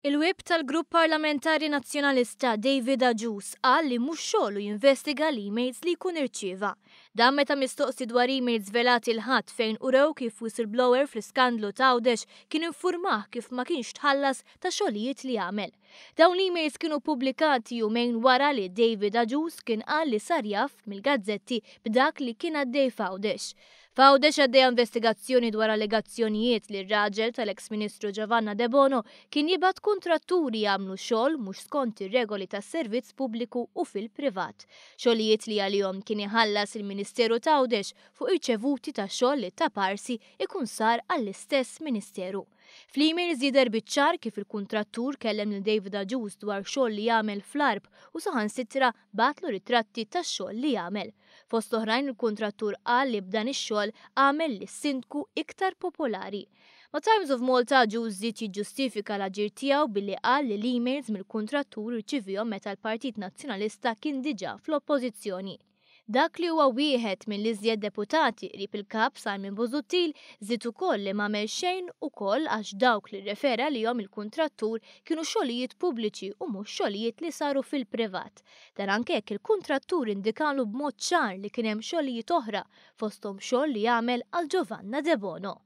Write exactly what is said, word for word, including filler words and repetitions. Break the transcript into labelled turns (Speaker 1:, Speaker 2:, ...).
Speaker 1: Il-Whip tal-Grupp Parlamentari Nazzjonalista David Agius qal li mhux xogħlu jinvestiga l-emails li jkun irċieva. Dan meta mistoqsi dwar emails żvelati l-Ħadd fejn urew kif whistleblower fl-iskandlu t'Għawdex kien infurmah kif ma kienx tħallas ta' xogħlijiet li għamel. Dawn l-emails kienu pubblikati jumejn wara li David Agius kien qal li sar jaf mill-gazzetti b'dak li kien għaddej f'Għawdex. F'Għawdex għaddejja investigazzjoni dwar allegazzjonijiet li r-raġel tal-eks Ministru Giovanna Debono kien jibgħat kuntratturi jagħmlu xogħol mhux skont ir-regoli tas-servizz pubbliku u fil-privat. Xogħlijiet li għalihom kien iħallas il-Ministeru t'Għawdex fuq irċevuti ta' xogħol li ta' parsi ikun sar għall-istess Ministeru. Fl-emails jidher biċ-ċar kif il-kuntrattur kellem lil David Agius dwar xogħol li jagħmel fl-Għarb u saħansitra bagħatlu ritratti tax-xogħol li jagħmel. Fost oħrajn, il-kuntrattur qal li b'dan ix-xogħol għamel lis-sindku iktar popolari. Ma' Times of Malta, Agius żied jiġġustifika l-aġir tiegħu billi qal li l-emails mill-kuntrattur irċivihom meta l-Partit Nazzjonalista kien diġà fl-Oppożizzjoni. Dak li huwa wieħed mill-iżjed deputati qrib il-kap Simon Busuttil żied ukoll li m'għamel xejn ukoll għax dawk li rrefera lihom il-kuntrattur kienu xogħlijiet pubbliċi u mhux xogħlijiet li saru fil-privat. Dan anke jekk il-kuntrattur indikalu b'mod ċar li kien hemm xogħlijiet oħra, fosthom xogħol li jagħmel għal Giovanna Debono.